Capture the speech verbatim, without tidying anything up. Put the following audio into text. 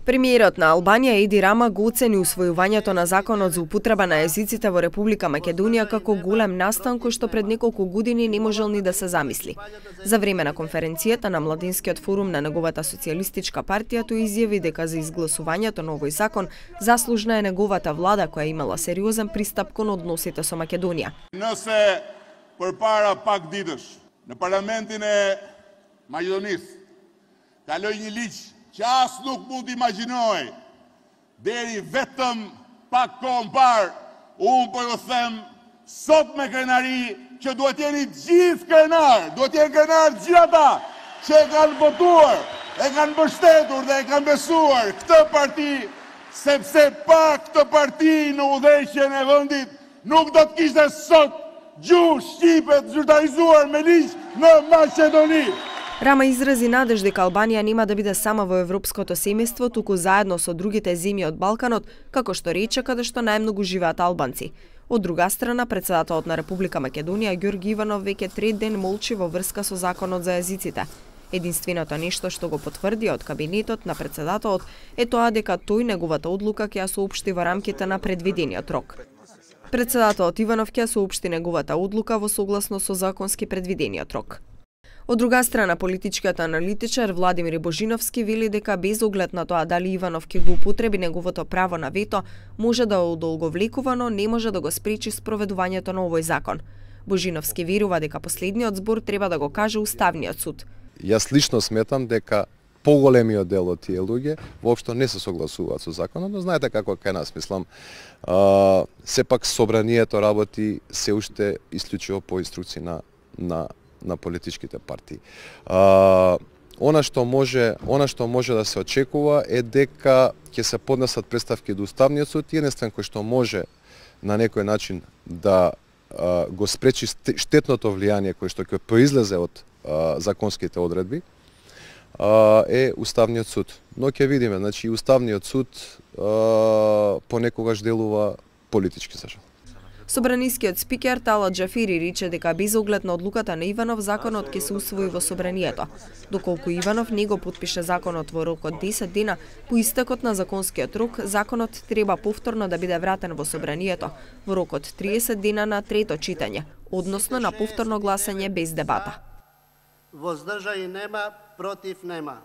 Премиерот на Албанија Еди Рама го оцени усвојувањето на законот за употреба на езиците во Република Македонија како голем настан кој што пред неколку години не можел ни да се замисли. За време на конференцијата на Младинскиот форум на неговата социјалистичка партија тој изјави дека за изгласувањето на овој закон заслужна е неговата влада која имала сериозен пристап кон односите со Македонија. Nëse përpara pak ditësh në parlamentin e Maqedonisë kaloi një ligj që as nuk mund imagjinoj deri vetëm pak kohë më parë, unë po ju them sot me krenari që duhet jeni gjithë krenar, duhet jeni krenar gjithë ata që e kanë votuar, e kanë mbështetur dhe e kanë besuar këtë parti, sepse pa këtë parti në udhëheqjen e vendit nuk do të kishte sot gjuhë shqipe të zyrtarizuar me ligj në Maqedoni. Рама изрази надеж дека Албанија нема да биде сама во европското семејство, туку заедно со другите земји од Балканот, како што рече каде што најмногу живеат албанци. Од друга страна, председателот на Република Македонија Ѓорги Иванов веќе трет ден молчи во врска со законот за езиците. Единственото нешто што го потврди од кабинетот на председателот е тоа дека тој неговата одлука ќе ја соопшти во рамките на предвидениот рок. Председателот Иванов ќе ја соопшти неговата одлука во согласно со законски предвидениот рок. Од друга страна, политичкиот аналитичар Владимир Божиновски вели дека без оглед на тоа дали Иванов ќе го употреби неговото право на вето, може да одолговлекувано не може да го спречи спроведувањето на овој закон. Божиновски верува дека последниот збор треба да го каже Уставниот суд. Јас лично сметам дека поголемиот дел од тие луѓе воопшто не се согласуваат со законот, но знаете како кај нас, мислам, а, сепак собранието работи се уште исклучиво по инструкции на на на политичките партии. А, она што може, она што може да се очекува е дека ќе се поднесат представки до Уставниот суд, единствен кој што може на некој начин да а, го спречи штетното влијание кое што ќе произлезе од а, законските одредби, а, е Уставниот суд. Но ќе видиме, значи Уставниот суд а, понекогаш делува политички, за жал. Собранискиот спикер Талат Џафери рече дека без оглед на одлуката на Иванов законот ќе се усвои во собранието. Доколку Иванов не го потпише законот во рок од десет дена, по истекот на законскиот рок, законот треба повторно да биде вратен во собранието во рок од триесет дена на трето читање, односно на повторно гласање без дебата. Воздржаи нема, против нема.